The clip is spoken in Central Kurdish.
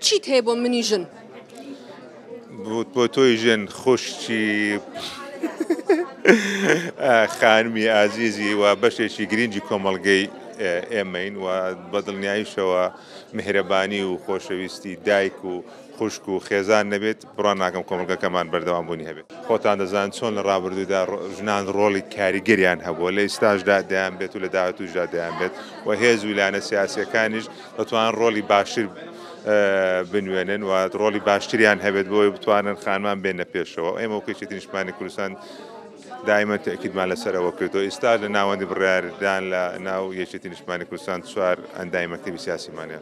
چیت هەیە بۆ منی ژن؟ بۆ تۆی ژن خوشکی خانمی ئازیزی و بەشێکی گرنگی کۆمەڵگەی ئێمەین و بە دڵنیاییشەوە میهرەبانی و خۆشەویستی دایک و خوشک و خێزان نەبێت بڕوا ناکەم کۆمەڵگەکەمان بەردەوام بوونی هەبێت. خۆتان دەزانن چۆن لە ڕابردوودا ژنان ڕۆڵی کاریگەریان هەبووە، لە ئیستاشدا دەیان بێت و لە داهاتووشدا دەیان بێت و هێز و لایەنە سیاسییەکانیش دەتوانن ڕۆڵی باشتر بنوێنن و ڕۆڵی باشتریان هەبێت بۆ ئەوەی بتوانن خانمان بێنە پێشەوە. ئێمە وەک یەکێتی نیشتمانی کوردستان دائیمەن تەئکیدمان لەسەر ئەوە کردووە. ئیستاش لە ناوەندی بڕیاردان لە ناو یەکێتی نیشتمانی کوردستان چوار ئەندامی مەکتەبی سیاسیمان هەیە.